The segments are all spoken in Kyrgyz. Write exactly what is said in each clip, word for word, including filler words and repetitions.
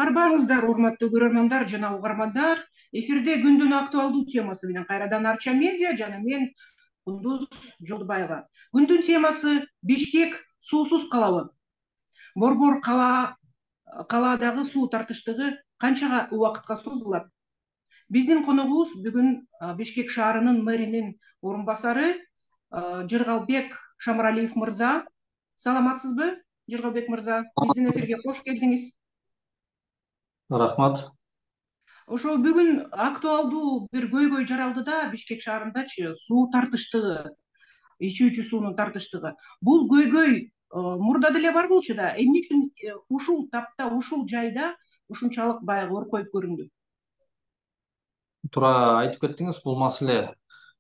Арбаңыздар, урматтуу көрөрмандар жана угармандар. Эфирде күндүн актуалдуу темасы менен кайрадан Арча медиа жана мен Кундуз Жолдубаева. Күндүн темасы Бишкек суусуз калабы. Борбор кала калаадагы суу тартыштыгы канчага убакытка созулат? Биздин коногубуз бүгүн Бишкек шаарынын мэринин орун басары Жыргалбек Шамыралиев мырза. Саламатсызбы, Жыргалбек мырза? Биздин эфирге кош келдиңиз. Рахмат. Ошо бүгүн актуалдуу бир көйгөй жаралды да Бишкек шаарындачы суу тартыштыгы, ичүүчү суунун тартыштыгы. Бул көйгөй мурда деле бар болчу да, эмне үчүн ушул тапта, ушул жайда ушунчалык баягы оркоюп көрүндү? Туура айтып кеттиңиз, бул маселе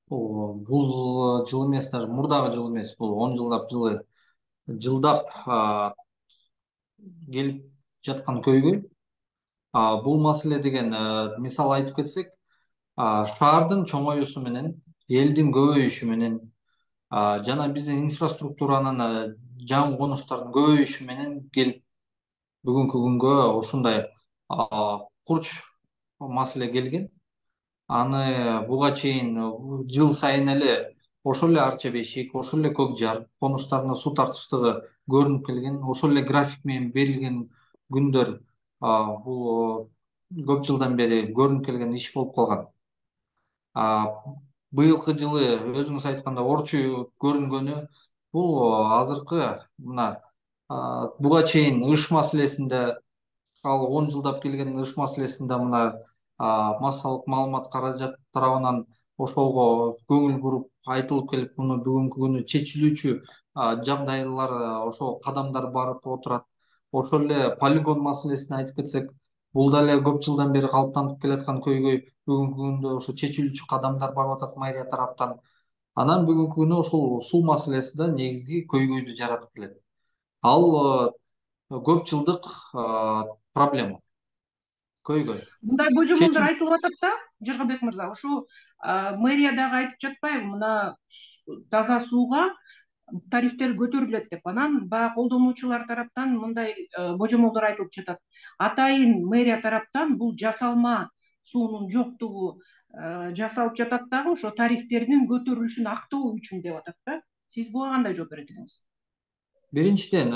бул жыл эмес, даже мурдагы жыл эмес, бул он жылдап жылы жылдап келип жаткан көйгөй. Бул маселе деген мисал айтып кетсек, шаардын чоңоюусу менен, элдин көбөйүшү менен жана биздин инфраструктуранын жаңы конуштардын көбөйүшү менен келип бүгүнкү күнгө ушундай курч маселе келген. Аны буга чейин жыл сайын эле ошол эле Арча Бешик, ошол эле Көк Жар конуштарына суу тартыштыгы көрүнүп келген, ошол эле график менен берилген күндөр бул көп жылдан бери көрүнүп келген иш болуп калган. Быйылкы жылы өзүңүз айткандай орчуу көрүнгөнү бул азыркы мына буга чейин ыш маселесинде, ал он жылдап келген ыш маселесинде мына массалык маалымат каражат тарабынан ошолго көңүл буруп айтылып келип, муну бүгүнкү күнү чечилүүчү жагдайлар, ошол кадамдар барып отурат. Ошол эле полигон маселесин айтып кетсек, бул дале көп жылдан бери калыптанып келаткан көйгөй, бүгүнкү күндө ошо чечилүүчү кадамдар барып атат мэрия тараптан. Анан бүгүнкү күнү ушул суу маселеси да негизги көйгөйдү жаратып келет. Ал көп жылдык проблема, көйгөй. Мындай божомолдор айтылып атат да, Жыргалбек мырза, ошо мэрия дагы айтып жатпайбы, мына таза сууга тарифтер көтөрүлөт деп. Анан баягы колдонуучулар тараптан мындай божомолдор айтылып жатат. Атайын мэрия тараптан бул жасалма суунун жоктугу жасалып жатат дагы, ошо тарифтердин көтөрүлүшүн актоо үчүн деп атат да. Сиз буга кандай жооп берет элеңиз? Биринчиден,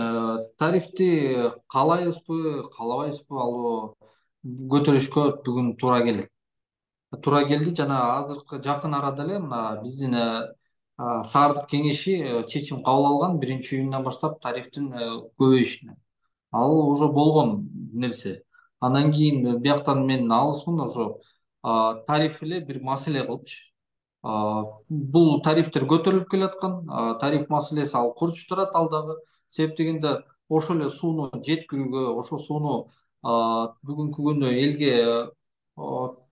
тарифти каалайбызбы, каалабайбызбы, ал көтөрүшкө бүгүн туура келет. Туура келди жана азыркы жакын арада эле мына биздин шаардык кеңеши чечим кабыл алган, биринчи июндан баштап тарифтин көбөйүшүнө. Ал уже болгон нерсе. Андан кийин бияктан мен алысмын, ошо тариф эле бир маселе кылчу. Бул тарифтер көтөрүлүп келаткан, тариф маселеси ал курч турат ал дагы. Себеп дегенде ошол эле сууну жеткирүүгө, ошол сууну бүгүнкү күнү элге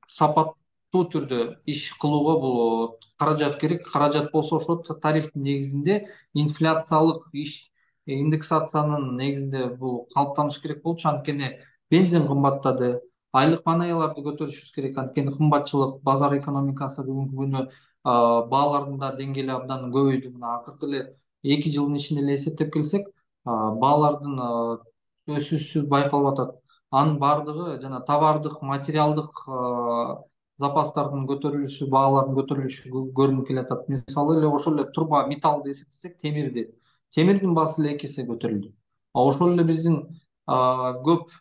сапаттуу түрдө иш кылууга бул каражат керек. Каражат болсо ошо тарифтин негизинде инфляциялык иш, индексациянын негизинде бул калыптаныш керек болчу. Анткени бензин кымбаттады, айлык маанаяларды көтөрүшүбүз керек. Анткени кымбатчылык, базар экономикасы бүгүнкү күнү баалардын да деңгээли абдан көбөйдү. Мына акыркы эле эки жылдын ичинде эле эсептеп келсек, баалардын өсүүсү байкалып атат. Анын баардыгы жана товардык, материалдык запастардын көтөрүлүшү, баалардын көтөрүлүшү көрүнүп келатат. Мисалы эле ошол эле турба металлды эсептесек, темирди, темирдин баасы эле эки эсе көтөрүлдү. Ошол эле биздин көп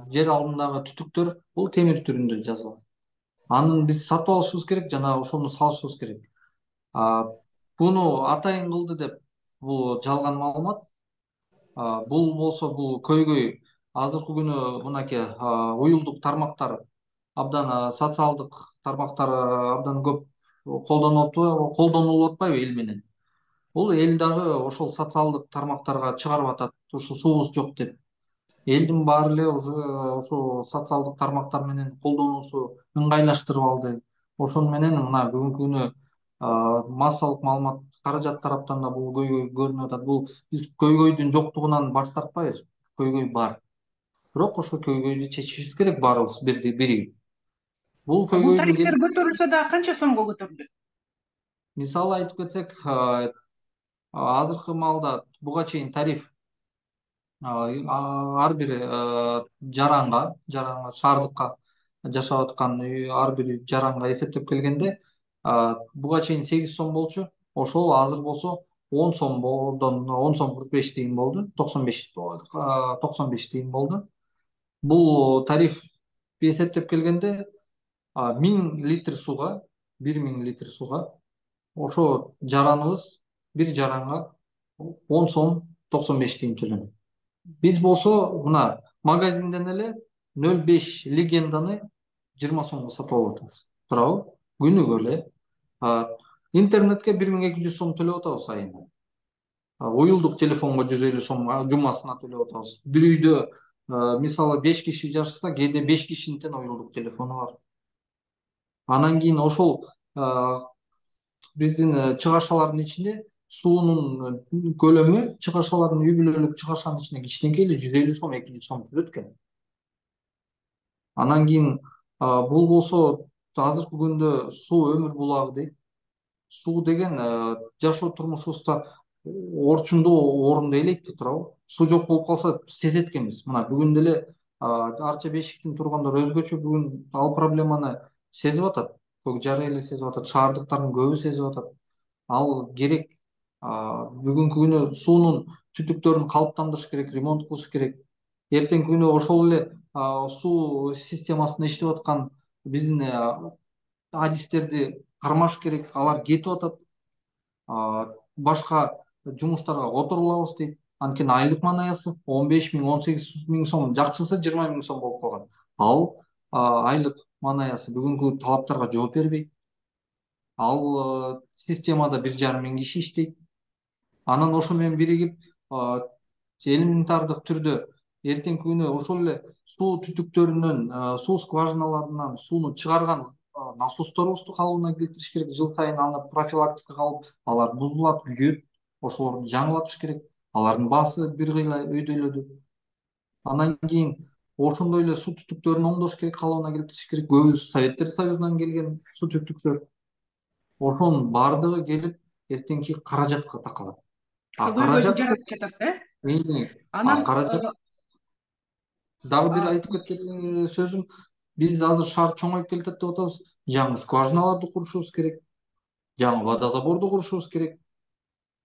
жер алдындагы түтүктөр бул темир түрүндө жасалган. Аны биз сатып алышыбыз керек жана ошону салышыбыз керек. Буну атайын кылды деп бул жалган маалымат. Бул болсо бул көйгөй азыркы күнү мынакей уюлдук тармактар абдан, социалдык тармактар абдан көп колдонуп колдонулуп атпайбы эл менен? Бул эл дагы ошол социалдык тармактарга чыгарып атат, ушу суубуз жок деп. Элдин баары эле уже ошол социалдык тармактар менен колдонуусу ыңгайлаштырып алды. Ошону менен мына бүгүнкү күнү массалык маалымат каражат тараптан да бул көйгөй көрүнүп атат. Бул биз көйгөйдүн жоктугунан баш тартпайбыз. Көйгөй бар. Бирок ошол көйгөйдү чечишибиз керек баарыбыз биригип. Бул көйгөйдүн тарифтер көтөрүлсө дагы канча сомго көтөрүлөт? Мисалы айтып кетсек, азыркы маалда буга чейин тариф ар бир жаранга жаранга шаардыкка жашап аткан үй ар бир жаранга эсептеп келгенде буга чейин сегиз сом болчу, ошол азыр болсо он сомдон он сом кырк беш тыйын болду, токсон беш токсон беш тыйын болду. Бул тариф эсептеп келгенде миң литр сууга бир миң литр сууга ошо жараныбыз бир жаранга он сом токсон беш тыйын төлөнөт. Биз болсо мына магазинден эле нөл беш легенданы жыйырма сомго сатып алып атабыз, туурабы? Күнүгө эле. Интернетке бир миң эки жүз сом төлөп атабыз айына. Уюлдук телефонго жүз элүү сом жумасына төлөп атабыз. Бир үйдө мисалы беш киши жашаса, кээде беш кишинин тең уюлдук телефону бар. Анан кийин ошол биздин чыгашалардын ичинде суунун көлөмү чыгашалардын үй бүлөлүк чыгашанын ичинде кичинекей эле жүз элүү сом эки жүз сом турат экен. Анан кийин бул болсо азыркы күндө суу өмүр булагы дейт. Суу деген жашоо турмушубузда орчундуу орунду ээлейт да, туурабы? Суу жок болуп калса сезет экенбиз. Мына бүгүн деле арча бешиктин тургондор өзгөчө бүгүн ал проблеманы сезип атат. Көк жара эли сезип атат, шаардыктардын көбү сезип атат. Ал керек. Бүгүнкү күнү суунун түтүктөрүн калыптандырыш керек, ремонт кылыш керек. Эртеңки күнү ошол эле суу системасында иштеп аткан биздин адистерди кармаш керек, алар кетип атат. Башка жумуштарга которулабыз дейт. Анткени айлык маанаясы он беш миң он сегиз миң сом, жакшысы жыйырма миң сом болуп калган. Ал айлык маанаясы бүгүнкү талаптарга жооп бербейт. Ал системада бир жарым миң киши иштейт. Анан ошо менен биригип элементардык түрдө эртеңки күнү ошол эле суу түтүктөрүнөн, суу скважиналарынан сууну чыгарган насосторубузду калыбына келтириш керек. Жыл сайын аны профилактика кылып, алар бузулат, күйөт. Ошолорду жаңылатыш керек. Алардын баасы бир кыйла өйдөлөдү. Андан кийин ошондой эле суу түтүктөрүн оңдош керек, калыбына келтириш керек. Көбү Советтер Союзунан келген суу түтүктөр. Ошонун баардыгы келип эртеңки каражатка такалат. Ошол көйгөйдү жаратып жатат да. Анан каражат дагы бир айтып кеткен сөзүм, биз азыр шаар чоңоюп келатат деп атабыз. Жаңы скважиналарды курушубуз керек. Жаңы водозаборду курушубуз керек.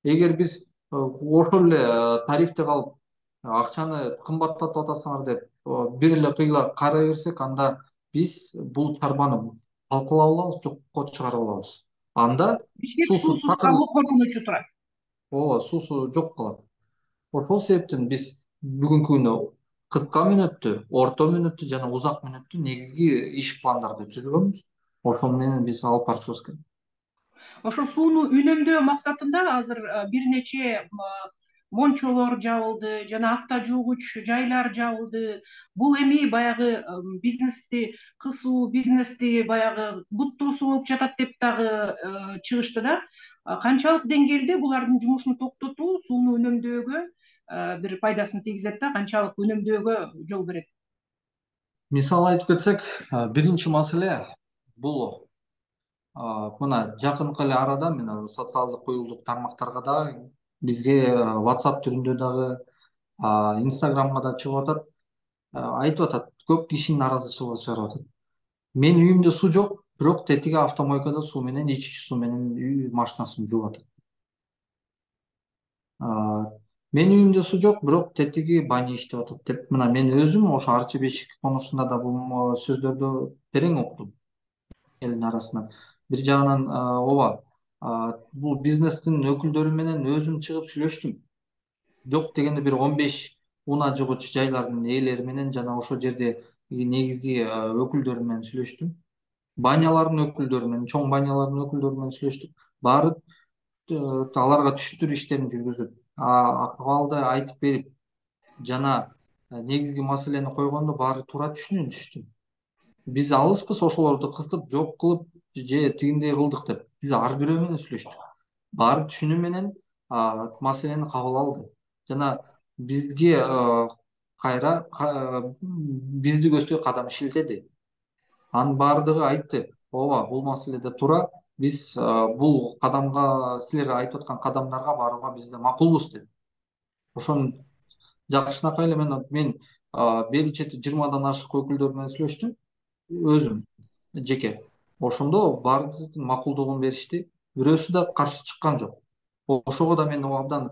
Эгер биз ошол эле тарифте калып, акчаны кымбаттатып атасыңар деп бир эле кыйла карай берсек, анда биз бул чарбаны талкалап алабыз, жокко чыгарып алабыз. Анда суусуз калуу коркунучу турат. Ооба, суусу жок калат. Ошол себептен биз бүгүнкү күнү кыска мөөнөттү, орто мөөнөттү жана узак мөөнөттү негизги иш пландарды түзгөнбүз. Ошол менен биз алып барышыбыз керек. Ошо сууну үнөмдөө максатында азыр бир нече мончолор жабылды, жана авто жуугуч жайлар жабылды. Бул эми баягы бизнести кысуу, бизнести баягы буттуусу болуп жатат деп дагы чыгышты да. Канчалык деңгээлде булардын жумушун токтотуу сууну үнөмдөөгө бир пайдасын тийгизет да, канчалык үнөмдөөгө жол берет? Мисалы айтып кетсек, биринчи маселе бул мына жакынкы эле арада мен социалдык уюлдук тармактарга дагы, бизге WhatsApp түрүндө дагы, Instagramга да чыгып атат, айтып атат, көп киши нааразычылык чыгарып атат. Менин үйүмдө суу жок, бирок тетиги автомойкада суу менен, ички суу менен үй машинасын жууп атат. Менин үйүмдө суу жок, бирок тетиги баня иштеп атат деп, мына мен өзүм ошо Арча бешик конушунда да бул сөздөрдү терең уктум элдин арасынан. Бир жагынан ооба, бул бизнестин өкүлдөрү менен өзүм чыгып сүйлөштүм. Жок дегенде бир он беш унаа жыгыч жайлардын ээлери менен жана ошол жерде негизги өкүлдөрү менен сүйлөштүм. Банялардын өкүлдөрү менен, чоң банялардын өкүлдөрү менен сүйлөштүк. Баары аларга түшүндүрүү иштерин жүргүзүп, акыбалды айтып берип, жана негизги маселени койгондо баары туура түшүнүштү. Биз алыспыз ошолорду кыртып, жок кылып же тигиндей кылдык деп. Биз ар бирөө менен сүйлөштүк. Баары түшүнүү менен маселени кабыл алды. Жана бизге кайра бизди көздөй кадам шилтеди. Анын баардыгы айтты, ооба, бул маселеде туура, биз бул кадамга, силер айтып аткан кадамдарга барууга биз да макулбуз деп. Ошон жакшынакай эле мен мен бери чети жыйырмадан ашык өкүлдөр менен сүйлөштүм өзүм жеке. Ошондо баардыгы макулдугун беришти. Бирөөсү да каршы чыккан жок. Ошого да мен абдан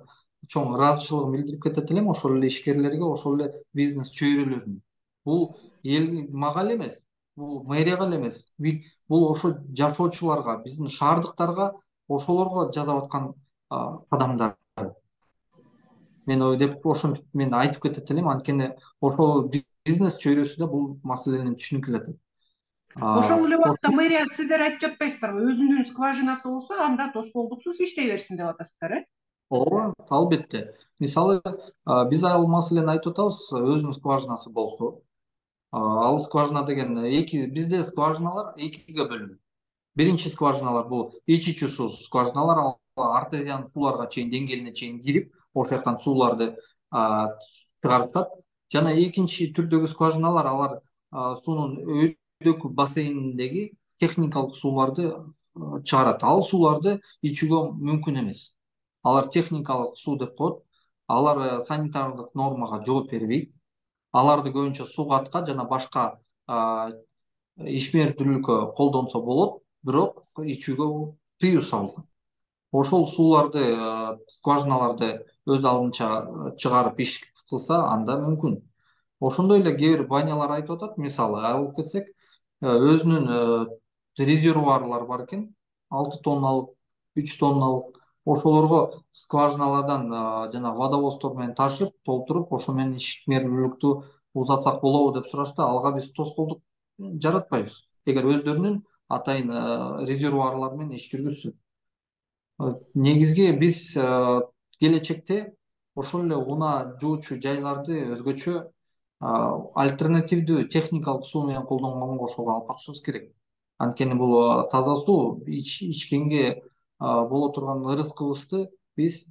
чоң ыраазычылыгымды билдирип кетет элем ошол эле ишкерлерге, ошол эле бизнес чөйрөлөрүнө. Бул эл мага эле эмес, бул мэрияга эле эмес, бул ошо жашоочуларга, биздин шаардыктарга, ошолорго жасап аткан кадамдар. Мен деп ошентип мен айтып кетет элем, анткени ошол бизнес чөйрөсү да бул маселени түшүнүп келатат. Ошол эле убакта мэрия сиздер айтып жатпайсыздарбы, өзүнүн скважинасы болсо анда тоскоолдуксуз иштей берсин деп атасыздар, э? Ооба, албетте. Мисалы, биз ал маселени айтып атабыз, өзүнүн скважинасы болсо. Ал скважина деген эки, бизде скважиналар экиге бөлүнөт. Биринчи скважиналар бул ич ичүү суу скважиналар, ал артезиан сууларга чейин, деңгээлине чейин кирип, ошол жактан сууларды чыгарышат. Жана экинчи түрдөгү скважиналар, алар суунун өйдөк бассейниндеги техникалык сууларды чыгарат. Ал сууларды ичүүгө мүмкүн эмес. Алар техникалык суу деп коет. Алар санитардык нормага жооп бербейт. Аларды көбүнчө суугатка жана башка ишмердүүлүккө колдонсо болот, бирок ичүүгө тыюу салынган. Ошол сууларды, скважиналарды өз алдынча чыгарып иш кылса, анда мүмкүн. Ошондой эле кээ бир банялар айтып атат, мисалы алып кетсек, өзүнүн резервуарлары бар экен, алты тонналык, үч тонналык. Ошолорго скважиналардан жана водовоздор менен ташып, толтуруп, ошо менен ишмердүүлүктү узатсак болобу деп сурашты. Алга биз тоскоолдук жаратпайбыз, эгер өздөрүнүн атайын резервуарлары менен иш жүргүзсө. Негизги биз келечекте ошол эле унаа жуучу жайларды өзгөчө альтернативдүү техникалык суу менен колдонгонго ошого алып барышыбыз керек. Анткени бул таза суу ичкенге боло турган ырыс кыбызды биз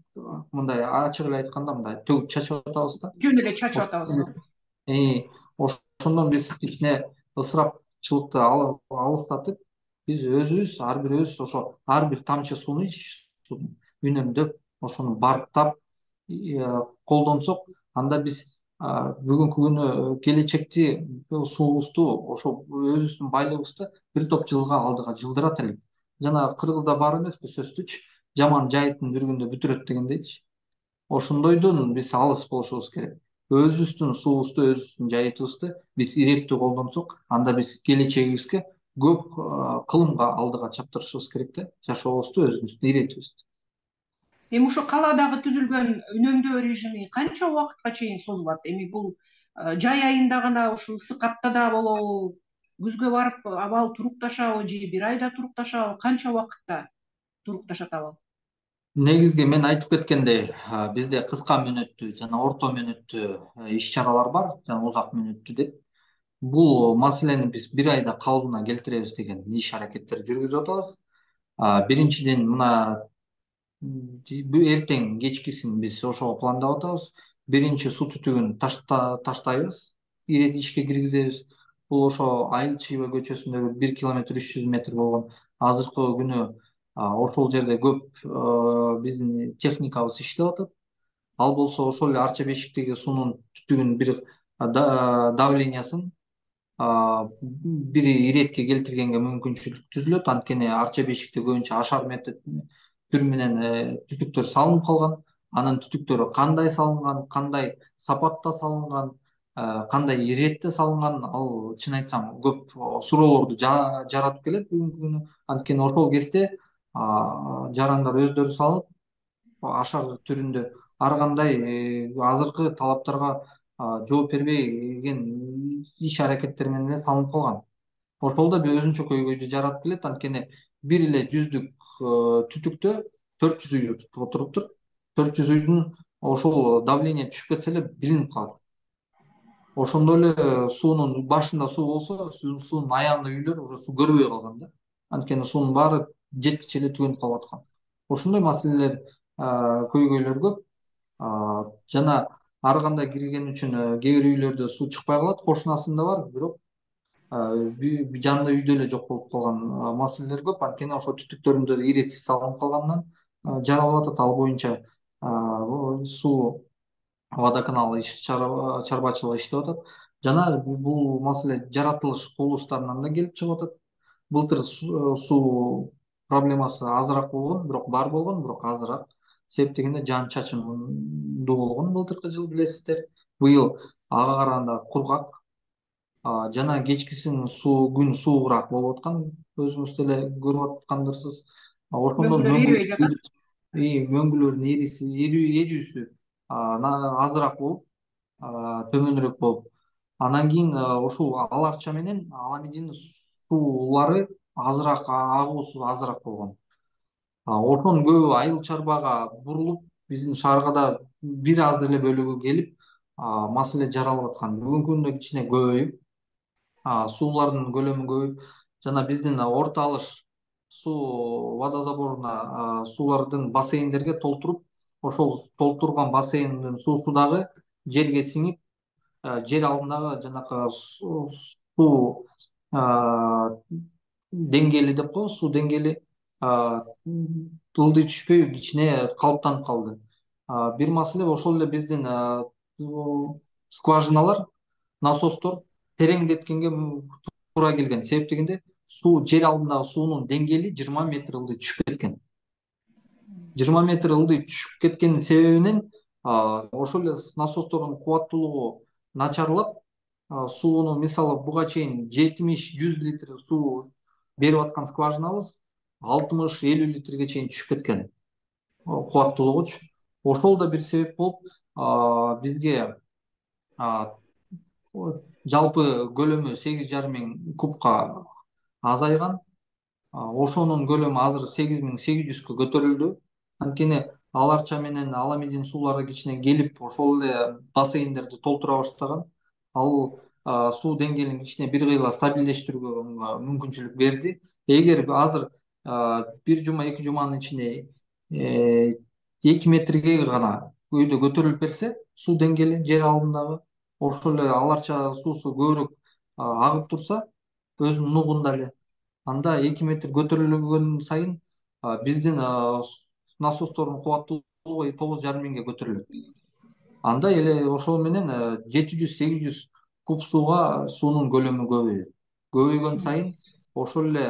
мындай ачык эле айтканда мындай төгүп чачып атабыз да. Жөн эле чачып атабыз. Ошондон биз кичине ысырапчылыкты алыстатып, биз өзүбүз, ар бирөөбүз ошо ар бир тамчы сууну үнөмдөп, ошону барктап колдонсок, анда биз бүгүнкү күнү келечекти суубузду, ошо өзүбүздүн байлыгыбызды бир топ жылга алдыга жылдырат элек. Жана кыргызда бар эмеспи сөзсүз, жаман жайыттын бир күндө бүтүрөт дегендейчи. Ошондойдон биз алыс болушубуз керек. Өзүбүздүн суубузду, өзүбүздүн жайытыбызды биз иреттүү колдонсок, анда биз келечегибизге көп кылымга алдыга чаптырышыбыз керек да, жашообузду, өзүбүздүн иретибизди. Эми ошо калаадагы түзүлгөн үнөмдөө режими канча убакытка чейин созулат? Эми бул жай айында гана ушул ысык аптада болобу, күзгө барып абал турукташабы же бир айда турукташабы, канча убакытта турукташат абал? Негизги мен айтып кеткендей, бизде кыска мөөнөттүү жана орто мөөнөттүү иш чаралар бар, жана узак мөөнөттүү деп. Бул маселени биз бир айда калыбына келтиребиз деген иш аракеттер жүргүзүп атабыз. Биринчиден, мына эртең кечкисин биз ошого пландап атабыз. Биринчи суу түтүгүн таштайбыз, ирет ишке киргизебиз. Бул ошо Айыл Чыйба көчөсүндөгү бир километр үч жүз метр болгон азыркы күнү ошол жерде көп биздин техникабыз иштеп атат. Ал болсо ошол эле Арча бешиктеги суунун түтүгүнүн бир давлениясын бир иретке келтиргенге мүмкүнчүлүк түзүлөт. Анткени Арча бешикте көбүнчө ашар метод түр менен түтүктөр салынып калган. Анын түтүктөрү кандай салынган, кандай сапатта салынган, кандай иретте салынган, ал чын айтсам көп суроолорду жаратып келет бүгүнкү күнү. Анткени ошол кезде жарандар өздөрү салып, ашар түрүндө ар кандай азыркы талаптарга жооп бербеген иш аракеттер менен эле салынып калган. Ошол да бир өзүнчө көйгөйдү жаратып келет. Анткени бир эле жүздүк түтүктө төрт жүз үй отуруптур. төрт жүз үйдүн ошол давление түшүп кетсе эле билинип калат. Ошондой эле суунун башында суу болсо, суунун аягында үйлөр уже суу көрбөй калган да. Анткени суунун баары жеткиче эле түгөнүп калып аткан. Ошондой маселелер, көйгөйлөр көп. Жана ар кандай кирген үчүн кээ бир үйлөрдө суу чыкпай калат, кошунасында бар, бирок жанында үйдө эле жок болуп калган маселелер көп. Анткени ошол түтүктөрүндө иретсиз салынып калганынан жаралып атат. Ал боюнча суу водоканал иш чарбачылыгы иштеп атат. Жана бул маселе жаратылыш кубулуштарынан да келип чыгып атат. Былтыр суу проблемасы азыраак болгон, бирок бар болгон, бирок азыраак. Себеп дегенде жаан чачындуу болгон былтыркы жыл, билесиздер. Быйыл ага караганда кургак, жана кечкисин суу күн суугураак болуп аткан, өзүңүз деле көрүп аткандырсыз. Ошондон мөңгүлөр эрибей жатат. мөңгүлөрдүн эриси эрүүсү азыраак болуп, төмөнүрөөк болуп, анан кийин ушул ал арча менен Аламединин суулары азыраак, агуусу азыраак болгон. Ошонун көбү айыл чарбага бурулуп, биздин шаарга да бир аз деле бөлүгү келип, маселе жаралып аткан. Бүгүнкү күндө кичине көбөйүп, суулардын көлөмү көбөйүп, жана биздин орто алыш суу водозаборуна суулардын бассейндерге толтуруп, ошол толтурган бассейндин суусу дагы жерге сиңип, жер алдындагы жанакы суу деңгээли деп коебуз, суу деңгээли ылдый түшпөй кичине калыптанып калды. Бир маселе ошол эле биздин скважиналар, насостор тереңдеткенге туура келген. Себеп дегенде суу, жер алдындагы суунун деңгээли жыйырма метр ылдый түшүп кеткен. жыйырма метр ылдый түшүп кеткенин себебинен ошол эле насостордун кубаттуулугу начарлап, сууну мисалы буга чейин жетимиш жүз литр суу берип аткан скважинабыз алтымыш элүү литрге чейин түшүп кеткен кубаттуулугучу. Ошол да бир себеп болуп, бизге жалпы көлөмү сегиз жарым миң кубка азайган. Ошонун көлөмү азыр сегиз миң сегиз жүзгө көтөрүлдү. Анткени ал арча менен Аламедин суулары кичине келип, ошол эле бассейндерди толтура баштаган. Ал суу деңгээлин кичине бир кыйла стабилдештирүүгө мүмкүнчүлүк берди. Эгер азыр бир жума, эки жуманын ичинде эки метрге гана өйдө көтөрүлүп берсе, суу деңгээли жер алдындагы, ошол эле ал арча суусу көбүрөөк агып турса, өзүнүн нугунда эле, анда эки метр көтөрүлгөн сайын биздин насостордун кубаттуулугу тогуз жарым миңге көтөрүлөт. Анда эле ошол менен жети жүз сегиз жүз куб сууга суунун көлөмү көбөйөт. Көбөйгөн сайын ошол эле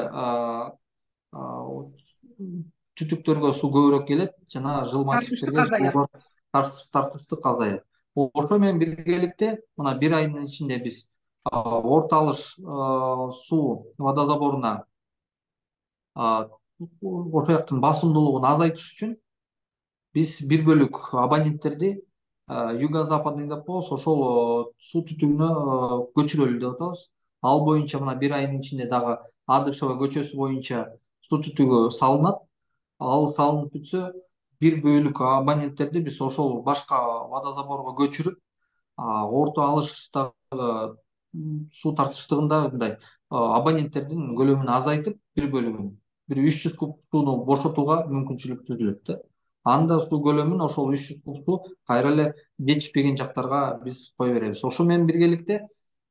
түтүктөргө суу көбүрөөк келет, жана жыл массивдерге тартыштык азаят. Ошо менен биргеликте мына бир айдын ичинде биз орто алыш суу водозаборуна ошол жактын басымдуулугун азайтыш үчүн биз бир бөлүк абоненттерди юго-западный деп коебуз, ошол суу түтүгүнө көчүрөлү деп атабыз. Ал боюнча мына бир айдын ичинде дагы Адышева көчөсү боюнча суу түтүгү салынат. Ал салынып бүтсө, бир бөлүк абоненттерди биз ошол башка водозаборго көчүрүп, орто алыштагы суу тартыштыгында мындай абоненттердин көлөмүн азайтып, бир бөлүгүн, бир үч жүз куб сууну бошотууга мүмкүнчүлүк түзүлөт да. Анда суу көлөмүн ошол үч жүз куб суу кайра эле жетишпеген жактарга биз кое беребиз. Ошо менен биргеликте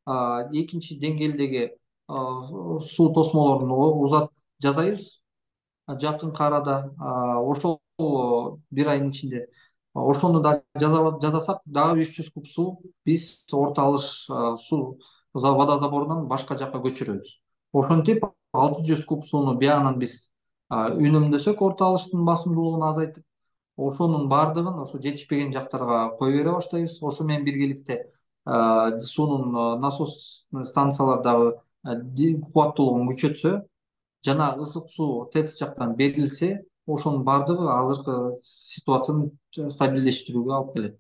экинчи деңгээлдеги суу тосмолорун узат жасайбыз жакынкы арада. Ошол бир айдын ичинде ошону да жасасак, дагы үч жүз куб суу биз орто алыш суу водозаборунан башка жакка көчүрөбүз. Ошентип алты жүз куб сууну биягынан биз үнөмдөсөк, орто алыштын басымдуулугун азайтып, ошонун баардыгын ошо жетишпеген жактарга кое бере баштайбыз. Ошо менен биргеликте суунун насос станциялар дагы кубаттуулугун күчөтсө, жана ысык суу ТЭЦ жактан берилсе, ошонун баардыгы азыркы ситуацияны стабилдештирүүгө алып келет.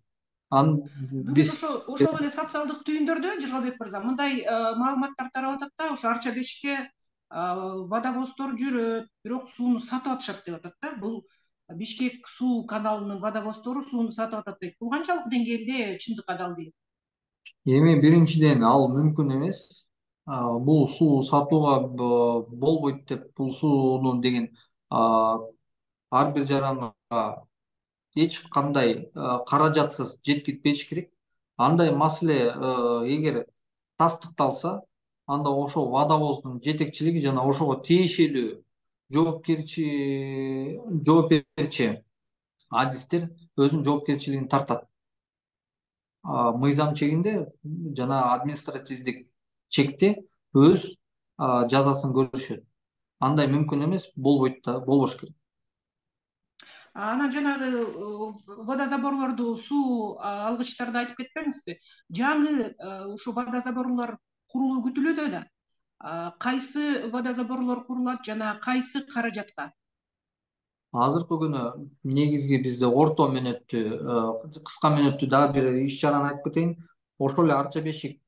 Бүгүн ошо ошол эле социалдык түйүндөрдө Жыргалбек мырза мындай маалыматтар тарап атат да, ошо Арча бешикке водовоздор жүрөт, бирок сууну сатып атышат деп атат да. Бул Бишкек суу каналынын водовоздору сууну сатып атат дейт. Бул канчалык деңгээлде чындыкка далил? Эми биринчиден ал мүмкүн эмес. Бул суу сатууга болбойт деп, бул сууну деген ар бир жаранга эч кандай каражатсыз жеткирбеш керек. Андай маселе эгер тастыкталса, анда ошо водовоздун жетекчилиги жана ошого тиешелүү жоопкерчи жоопкерчи адистер өзүнүн жоопкерчилигин тартат. мыйзам чегинде жана административдик чекте өз жазасын көрүшөт. Андай мүмкүн эмес, болбойт да, болбош керек. Анан жанагы водозаборлорду, суу алгычтарды айтып кетпеңизби? Жаңы ушу водозаборлор курулуу күтүлүүдө да. Кайсы водозаборлор курулат жана кайсы каражатка? Азыркы күнү негизги бизде орто мөөнөттүү, кыска мөөнөттүү дагы бир иш чараны айтып кетейин. Ошол эле Арча бешик.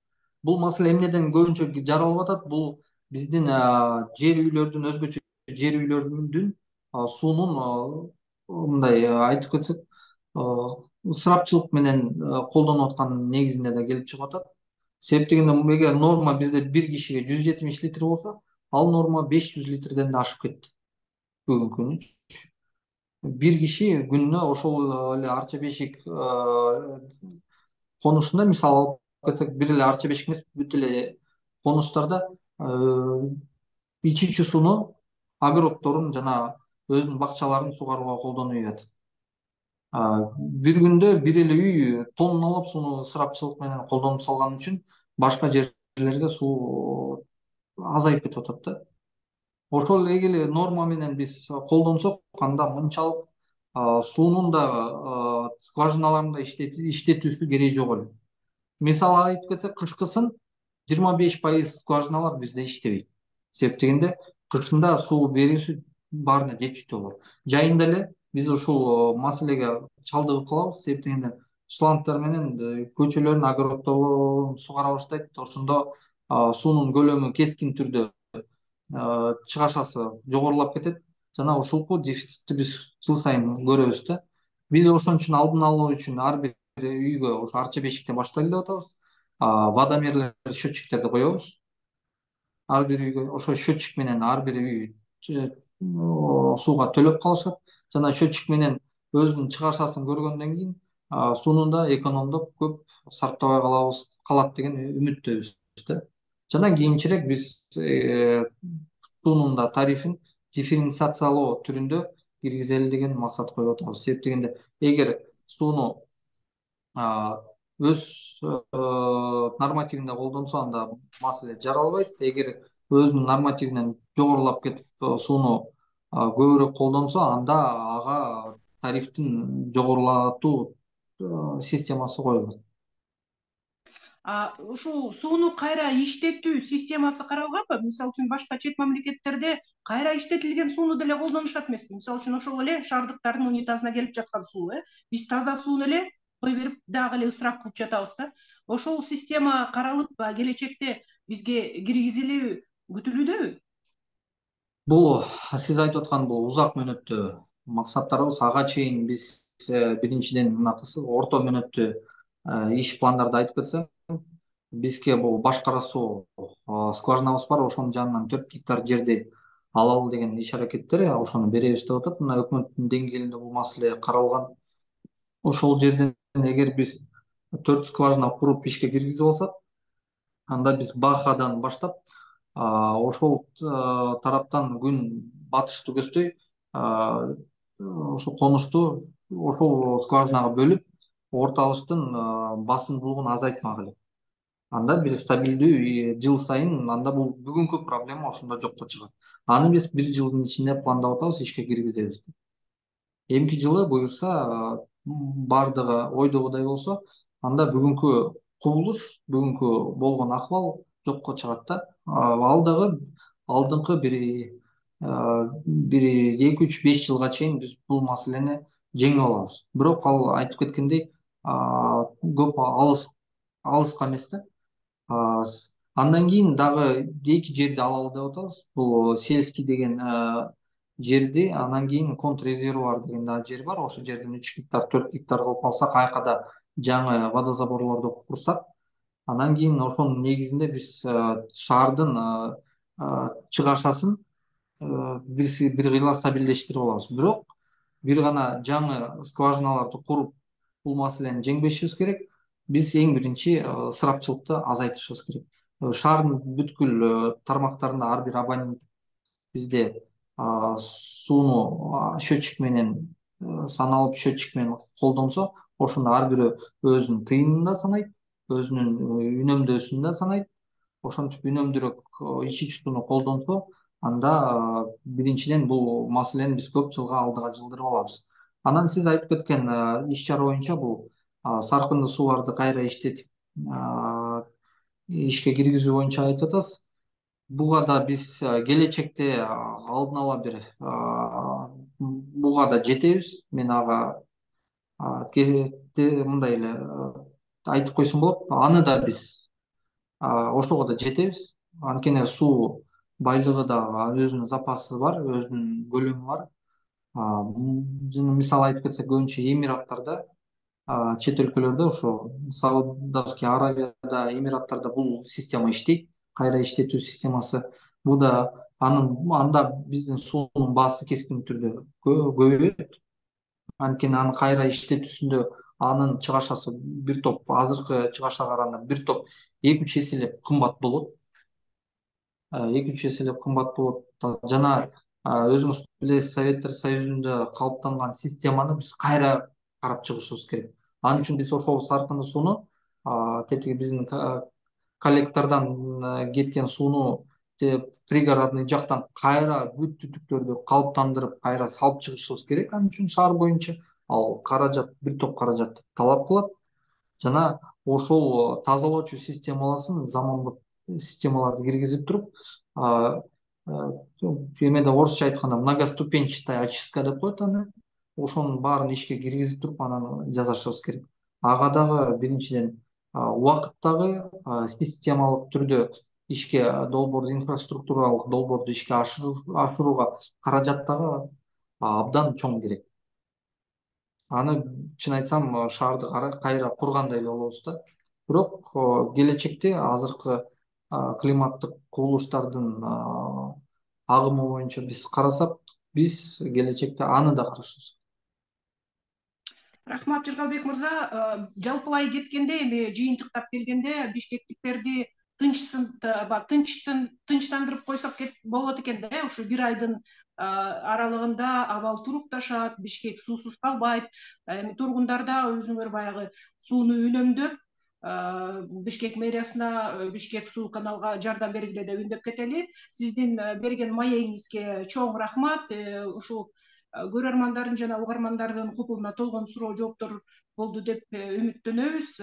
Бул маселе эмнеден көбүнчө жаралып атат? Бул биздин жер үйлөрдүн, өзгөчө жер үйлөрдүн суунун мындай айтып кетсек, ысырапчылык менен колдонуп аткан негизинде да келип чыгып атат. Себеп дегенде, эгер норма бизде бир кишиге жүз жетимиш литр болсо, ал норма беш жүз литрден да ашып кетти бүгүнкү күнү. Бир киши күнүнө ошол эле Арча бешик конушунда, мисалы алып кетсек, бир эле Арча бешик эмес, бүт эле конуштарда ичүүчү сууну, огороддорун жана өзүнүн бакчаларын сугарууга колдонуп атат. Бир күндө бир эле үй тонналап сууну ысырапчылык менен колдонуп салган үчүн башка жерлерге суу азайып кетип атат да. Ошол эгер норма менен биз колдонсок, анда мынчалык суунун дагы скважиналарында иштетүүсү кереги жок эле. Мисалы айтып кетсек, кышкысын жыйырма беш пайыз скважиналар бизде иштебейт. Себеп дегенде, кышында суу берүүсү баарына жетиштүү болот. Жайында эле биз ушул маселеге чалдыгып калабыз. Себеп дегенде, шлангдар менен көчөлөрдүн, огороддорун сугара баштайт. Ошондо суунун көлөмү кескин түрдө чыгашасы жогорулап кетет. Жана ушулку дефицитти биз жыл сайын көрөбүз да. Биз ошон үчүн алдын алуу үчүн ар бир үйгө ошо Арча бешикте баштайлы деп атабыз. Водомерлер, счетчиктерди коебуз. Ар бир үйгө ошо счетчик менен ар бир үй сууга төлөп калышат. Жана счетчик менен өзүнүн чыгашасын көргөндөн кийин суунун да экономдоп көп сарптабай калабыз, калат деген үмүттөбүз да. Жана кийинчерээк биз суунун да тарифин дифференциациялоо түрүндө киргизели деген максат коюп атабыз. Себеп дегенде, эгер сууну өз нормативинде колдонсо, анда маселе жаралбайт. Эгер өзүнүн нормативинен жогорулап кетип сууну көбүрөөк колдонсо, анда ага тарифтин жогорулатуу системасы коюлат. Ушул сууну кайра иштетүү системасы каралганбы? Мисалы үчүн башка чет мамлекеттерде кайра иштетилген сууну деле колдонушат эмеспи? Мисалы үчүн ошол эле шаардыктардын унитазына келип жаткан суу, э биз таза сууну эле кое берип дагы эле ысырап кылып жатабыз да. Ошол система каралып, келечекте бизге киргизилүү күтүлүүдөбү? Бул сиз айтып аткан бул узак мөөнөттүү максаттарыбыз. Ага чейин биз биринчиден мына орто мөөнөттүү иш пландарды айтып кетсем, бизге бул башкара суу скважинабыз бар. Ошонун жанынан төрт гектар жерди алалы деген иш аракеттер, ошону беребиз деп атат. Мына өкмөттүн деңгээлинде бул маселе каралган. Ошол жерден эгер биз төрт скважина куруп ишке киргизип алсак, анда биз Бахадан баштап ошол тараптан күн батышты көздөй ошол конушту ошол скважинага бөлүп, орто алыштын басымдуулугун азайтмак элек. Анда бир стабилдүү жыл сайын, анда бул бүгүнкү проблема ошондо жокко чыгат. Аны биз бир жылдын ичинде пландап атабыз, ишке киргизебиз. Эмки жылы буюрса, бардыгы ойдогудай болсо, анда бүгүнкү кубулуш, бүгүнкү болгон акыбал жокко чыгат да. Ал дагы алдыңкы бир бир эки үч беш жылга чейин биз бул маселени жеңип алабыз. Бирок ал айтып кеткендей, көп алыс алыска эмес да. Андан кийин дагы эки жерди алалы деп атабыз. Бул сельский деген жерди, анан кийин контррезервуар деген дагы жер бар. Ошол жерден үч гектар, төрт гектар кылып алсак, айкада жаңы водозаборлорду курсак, анан кийин ошонун негизинде биз шаардын чыгашасын бир кыйла стабилдештирип алабыз. Бирок бир гана жаңы скважиналарды куруп бул маселени жеңбешибиз керек. Биз эң биринчи ысырапчылыкты азайтышыбыз керек. Шаардын бүткүл тармактарында ар бир абонент бизде сууну счетчик менен саналып, счетчик менен колдонсо, ошондо ар бирөө өзүнүн тыйынын да санайт, өзүнүн үнөмдөөсүн да санайт. Ошентип үнөмдүүрөөк иш чутууну колдонсо, анда биринчиден бул маселени биз көп жылга алдыга жылдырып алабыз. Анан сиз айтып кеткен иш чара боюнча бул саркындуу сууларды кайра иштетип ишке киргизүү боюнча айтып атасыз. Буга да биз келечекте алдын ала бир буга да жетебиз. Мен ага мындай эле айтып койсом болот. Аны да биз ошого да жетебиз. Анткени суу байлыгы да өзүнүн запасы бар, өзүнүн көлөмү бар. Жана мисалы айтып кетсек, көбүнчө Эмираттарда, чет өлкөлөрдө, ошо Саудовский Аравияда, Эмираттарда бул система иштейт, кайра иштетүү системасы. Бул да анын анда биздин суунун баасы кескин түрдө көбөйөт. Анткени аны кайра иштетүүсүндө анын чыгашасы бир топ азыркы чыгашага караганда бир топ эки үч эселеп кымбат болот. эки үч эселеп кымбат болот. Жана өзүңүз билесиз, Советтер Союзунда калыптанган системаны биз кайра карап чыгышыбыз керек. Ал үчүн биз ошол саркындуу сууну, тетиги биздин коллектордон кеткен сууну пригородный жактан кайра бүт түтүктөрдү калыптандырып, кайра салып чыгышыбыз керек. Ал үчүн шаар боюнча ал каражат, бир топ каражатты талап кылат. Жана ошол тазалоочу системаласын, заманбап системаларды киргизип туруп, эмеде орусча айтканда многоступенчатая очистка деп коет аны. Ошонун баарын ишке киргизип туруп, анан жасашыбыз керек. Ага дагы биринчиден убакыт дагы системалык түрдө ишке долбоор, инфраструктуралык долбоорду ишке ашырууга каражат дагы абдан чоң керек. Аны чын айтсам, шаарды кайра кургандай эле болобуз да. Бирок келечекте азыркы климаттык кубулуштардын агымы боюнча биз карасак, биз келечекте аны да карашыбыз. Рахмат, Жыргалбек мырза. Жалпылай кеткенде, эми жыйынтыктап келгенде, бишкектиктерди тынчтандырып койсок болот экен да. Ушу бир айдын аралыгында абал турукташат, Бишкек суусуз калбайт. Эми тургундар да өзүңөр баягы сууну үнөмдөп, Бишкек мэриясына, Бишкек суу каналга жардам бергиле деп үндөп кетели. Сиздин берген маегиңизге чоң рахмат. Ушул көрөрмандардын жана угармандардын купулуна толгон суроо жооптор болду деп үмүттөнөбүз.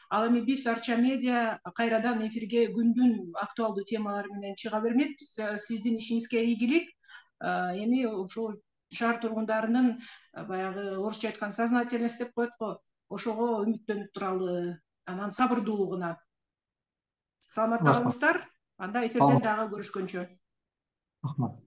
Ал эми биз Арча медиа кайрадан эфирге күндүн актуалдуу темалары менен чыга бермекпиз. Сиздин ишиңизге ийгилик. Эми ушул шаар тургундарынын баягы орусча айтканда сознательность деп коет го, ошого үмүттөнүп туралы, анан сабырдуулугуна. Саламатта калыңыздар. Анда эфирден дагы көрүшкөнчө. Рахмат.